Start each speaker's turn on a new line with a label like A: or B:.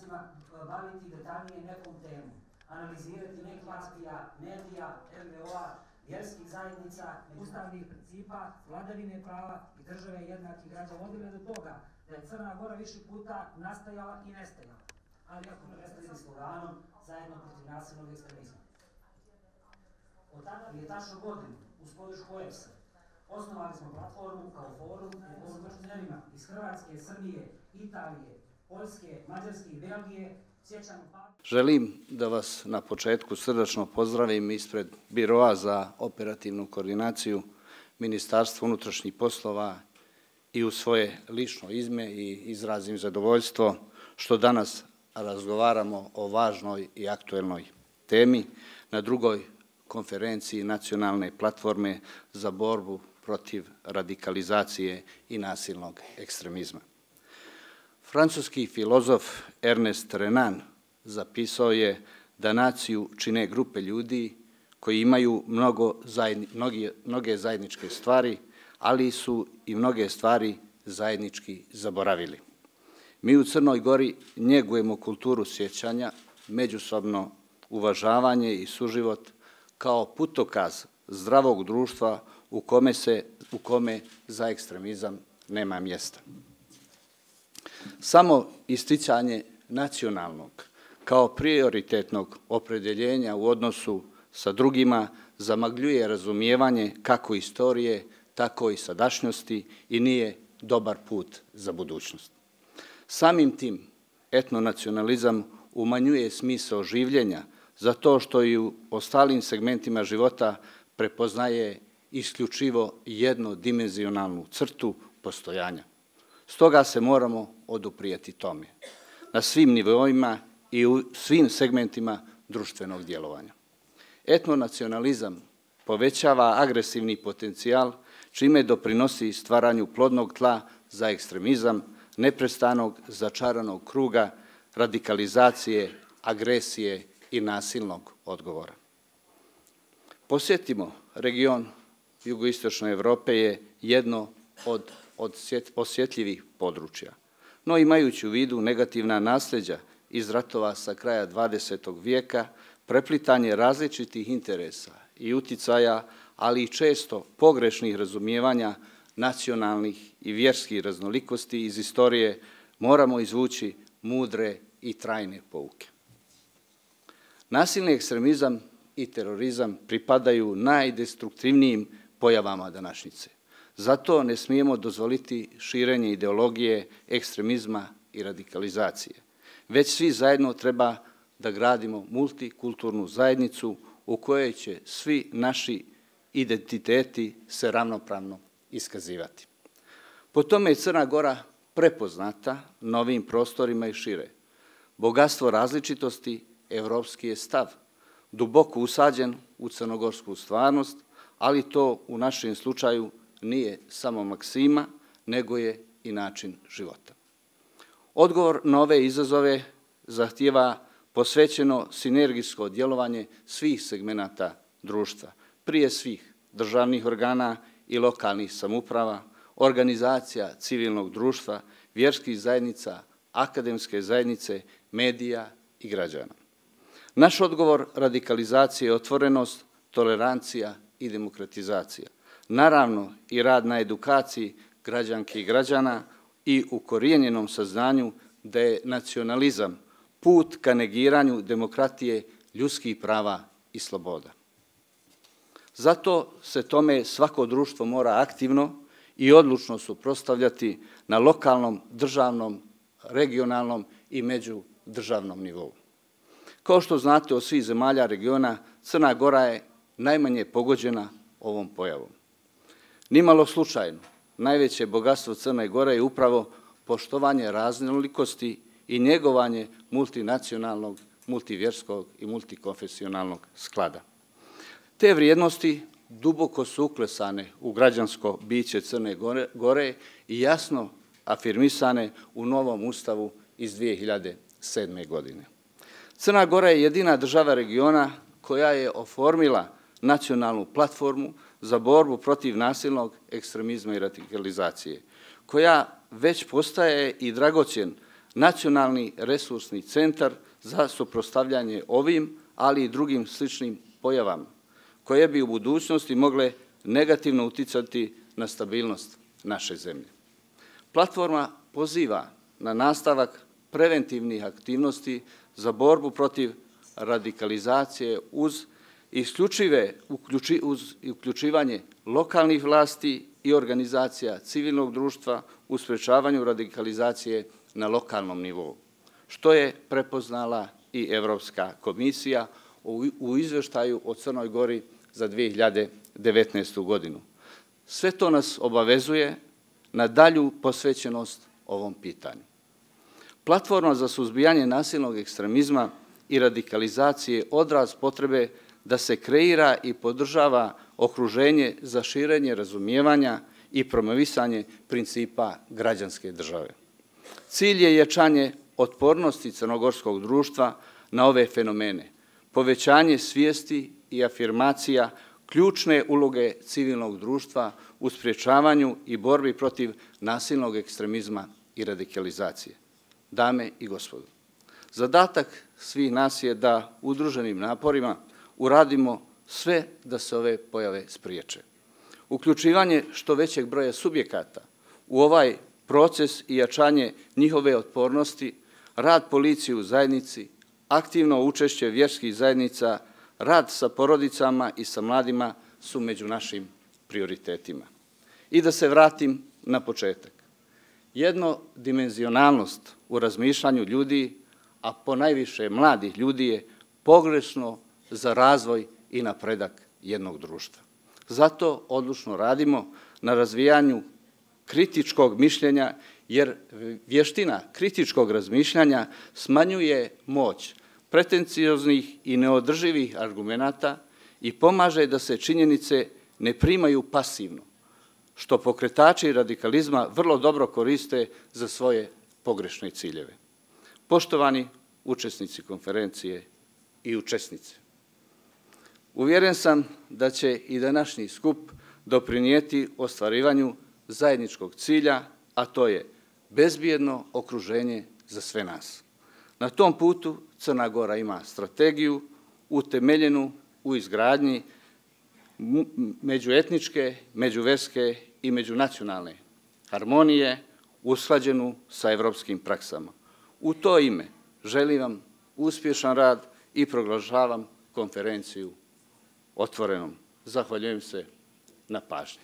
A: načinstvima baviti detaljnije nekom temu, analizirati nek partija, medija, NVO-a, vjerskih zajednica, ustavnih principa, vladavine prava i države jednakih građana, vodile do toga da je Crna Gora više puta nastajala i nestajala, ali ako ne predstavili sloganom zajedno protiv nasilnog ekstremizma. Od tada je tačno godinu, uz podršku OEBS-a, osnovali smo platformu kao forum među partnerima iz Hrvatske, Srbije, Italije, Poljske, Mađarske i Belgije.
B: Želim da vas na početku srdačno pozdravim ispred Biroa za operativnu koordinaciju Ministarstva unutrašnjih poslova i u svoje lično ime i izrazim zadovoljstvo što danas razgovaramo o važnoj i aktuelnoj temi na drugoj konferenciji nacionalne platforme za borbu protiv radikalizacije i nasilnog ekstremizma. Francuski filozof Ernest Renan zapisao je da naciju čine grupe ljudi koji imaju mnoge zajedničke stvari, ali su i mnoge stvari zajednički zaboravili. Mi u Crnoj Gori njegujemo kulturu sjećanja, međusobno uvažavanje i suživot kao putokaz zdravog društva u kome za ekstremizam nema mjesta. Samo isticanje nacionalnog kao prioritetnog opredjeljenja u odnosu sa drugima zamagljuje razumijevanje kako istorije, tako i sadašnjosti i nije dobar put za budućnost. Samim tim etnonacionalizam umanjuje smisao življenja zato što i u ostalim segmentima života prepoznaje isključivo jednodimenzionalnu crtu postojanja. Stoga se moramo oduprijeti tome na svim nivoima i u svim segmentima društvenog djelovanja. Etnonacionalizam povećava agresivni potencijal, čime doprinosi stvaranju plodnog tla za ekstremizam, neprestanog začaranog kruga, radikalizacije, agresije i nasilnog odgovora. Posjetimo, region jugoistočne Evrope je jedno od osjetljivih područja, no imajući u vidu negativna nasljeđa iz ratova sa kraja 20. vijeka, preplitanje različitih interesa i uticaja, ali i često pogrešnih razumijevanja nacionalnih i vjerskih raznolikosti iz istorije, moramo izvući mudre i trajne pouke. Nasilni ekstremizam i terorizam pripadaju najdestruktivnijim pojavama današnjice. Zato ne smijemo dozvoliti širenje ideologije, ekstremizma i radikalizacije. Već svi zajedno treba da gradimo multikulturnu zajednicu u kojoj će svi naši identiteti se ravnopravno iskazivati. Po tome je Crna Gora prepoznata na ovim prostorima i šire. Bogatstvo različitosti evropski je stav, duboko usađen u crnogorsku stvarnost, ali to u našem slučaju nije samo maksima, nego je i način života. Odgovor na ove izazove zahtijeva posvećeno sinergijsko djelovanje svih segmenata društva, prije svih državnih organa i lokalnih samouprava, organizacija civilnog društva, vjerskih zajednica, akademske zajednice, medija i građana. Naš odgovor radikalizacije je otvorenost, tolerancija i demokratizacija. Naravno i rad na edukaciji građanki i građana i ukorijenjenom saznanju da je nacionalizam put ka negiranju demokratije, ljudskih prava i sloboda. Zato se tome svako društvo mora aktivno i odlučno suprotstavljati na lokalnom, državnom, regionalnom i međudržavnom nivou. Kao što znate, od svih zemalja regiona, Crna Gora je najmanje pogođena ovom pojavom. Nimalo slučajno, najveće bogatstvo Crne Gore je upravo poštovanje raznolikosti i njegovanje multinacionalnog, multivjerskog i multikonfesionalnog sklada. Te vrijednosti duboko su uklesane u građansko biće Crne Gore i jasno afirmisane u novom ustavu iz 2007. godine. Crna Gora je jedina država regiona koja je oformila nacionalnu platformu za borbu protiv nasilnog ekstremizma i radikalizacije, koja već postaje i dragocjen nacionalni resursni centar za suprotstavljanje ovim, ali i drugim sličnim pojavama, koje bi u budućnosti mogle negativno uticati na stabilnost naše zemlje. Platforma poziva na nastavak preventivnih aktivnosti za borbu protiv radikalizacije uz uključivanje lokalnih vlasti i organizacija civilnog društva u sprečavanju radikalizacije na lokalnom nivou, što je prepoznala i Evropska komisija u izveštaju o Crnoj Gori za 2019. godinu. Sve to nas obavezuje na dalju posvećenost ovom pitanju. Platforma za suzbijanje nasilnog ekstremizma i radikalizacije odraz potrebe da se kreira i podržava okruženje za širenje razumijevanja i promovisanje principa građanske države. Cilj je jačanje otpornosti crnogorskog društva na ove fenomene, povećanje svijesti i afirmacija ključne uloge civilnog društva u sprječavanju i borbi protiv nasilnog ekstremizma i radikalizacije. Dame i gospodo, zadatak svih nas je da udruženim naporima uradimo sve da se ove pojave spriječe. Uključivanje što većeg broja subjekata u ovaj proces i jačanje njihove otpornosti, rad policije u zajednici, aktivno učešće vjerskih zajednica, rad sa porodicama i sa mladima su među našim prioritetima. I da se vratim na početak. Jednodimenzionalnost u razmišljanju ljudi, a ponajviše mladih ljudi, je pogrešno za razvoj i napredak jednog društva. Zato odlučno radimo na razvijanju kritičkog mišljenja, jer vještina kritičkog razmišljanja smanjuje moć pretencioznih i neodrživih argumenata i pomaže da se činjenice ne primaju pasivno, što pokretači radikalizma vrlo dobro koriste za svoje pogrešne ciljeve. Poštovani učesnici konferencije i učesnice, uvjeren sam da će i današnji skup doprinijeti ostvarivanju zajedničkog cilja, a to je bezbjedno okruženje za sve nas. Na tom putu Crna Gora ima strategiju utemeljenu u izgradnji međuetničke, međuverske i međunacionalne harmonije usklađenu sa evropskim praksama. U to ime želim vam uspješan rad i proglašavam konferenciju otvorenom. Zahvaljujem se na pažnji.